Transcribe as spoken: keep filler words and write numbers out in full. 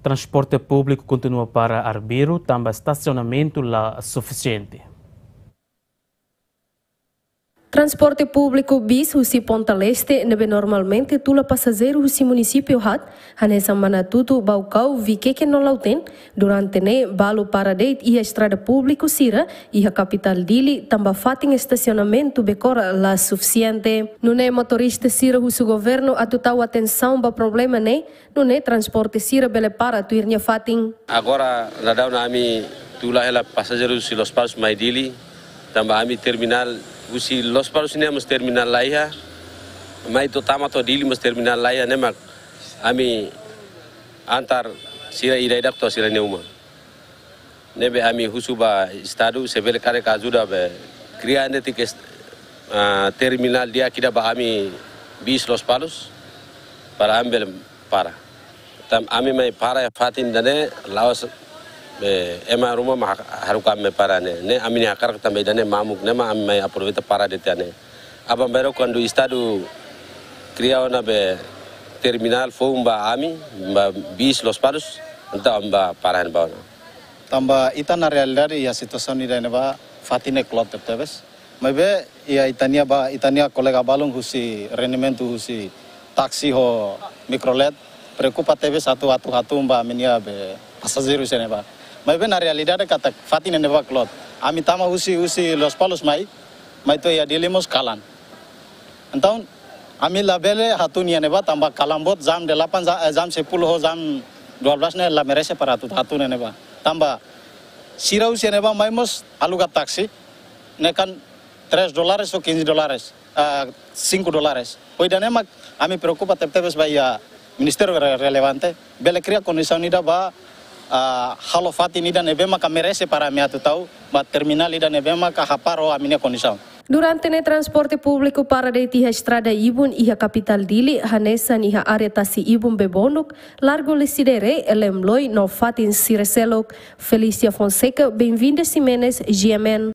Transporte públiku kontinua para arbiru, tanba estasionamentu la sufisiente. Transporte públiku bis husi Ponta Leste ne'ebé normalmente tula pasajeiru husi munisípiu haat, hanesan Manatuto, Baucau, Viqueque no Lautém, durante ne'e balu para de'it iha estrada públiku sira, iha kapitál Dili, tanba fatin estasionamentu Becora la sufisiente. Nune'e motorista sira husu governu atu tau atensaun ba problema ne'e, nune'e transporte sira bele para tuir nia fatin. Agora, daudaun ami tula hela pasajeiru husi Lospalos mai Dili, tanba ami terminál husi Lospalos ne'e mós terminál laiha, mai to'o tama to'o Dili mós terminál laiha, ne'e mak ami antar sira ida-idak to'o sira-nia uma. Ne'ebé ami husu ba Estadu, se bele karik ajuda be kria netik est-, ah, terminál di'ak ida ba ami bis Lospalos, para ami bele para. Tanba ami mai para iha fatin ida-ne'e la'ós be ema ruma mak haruka ami para ne'e. Ne'e ami-nia hakarak tanba ida-ne'e mamuk, ne'e mak ami mai aproveita para de'it iha ne'e. Aban-bainrua kuandu Estadu kria ona be terminál foun ba ami, ba bis Lospalos, entaun ami bá para iha ne'ebá ona. Tanba ita-nia realidade iha situasaun ida-ne'e ba fatin ne'e kloot tebes. Maibé iha ita-nia ba, ita-nia kolega balun husi rendimentu husi táksi ho mikrolet preokupa tebes atu, atu hatún ba ami-nia be pasajeiru iha ne'ebá. Maibé na realidade katak fatin ne'e ba kloot. Ami tama husi, husi Lospalos mai, mai to'o iha Dili mós kalan. Entaun, ami labele hatún iha ne'ebá tanba kalan boot jam delapan, ja-, eh, jam sepuluh ho jam dua belas ne'e la merese para atu hatún iha ne'ebá. Tanba sira husi ne'ebá mai mós aluga táksi, ne'e kan tres dólares ou quinze dólares, ah, cinco dólares. Ho ida-ne'e mak ami preokupa tebetebes ba iha ministériu re-, relevante, bele kria kondisaun ida ba, ah, halo fatin ida ne'ebé maka merese para ami atu tau, ba terminál ida ne'ebé maka hapara ho ami-nia kondisaun. Durante ne'e transporte públiku para de'it iha estrada ibun iha kapitál Dili, hanesan iha área tasi ibun Bebonuk, Largu Lecidere, Elemloi no fatin sira seluk. Felícia Fonseca, Benvinda Ximenes, G M N.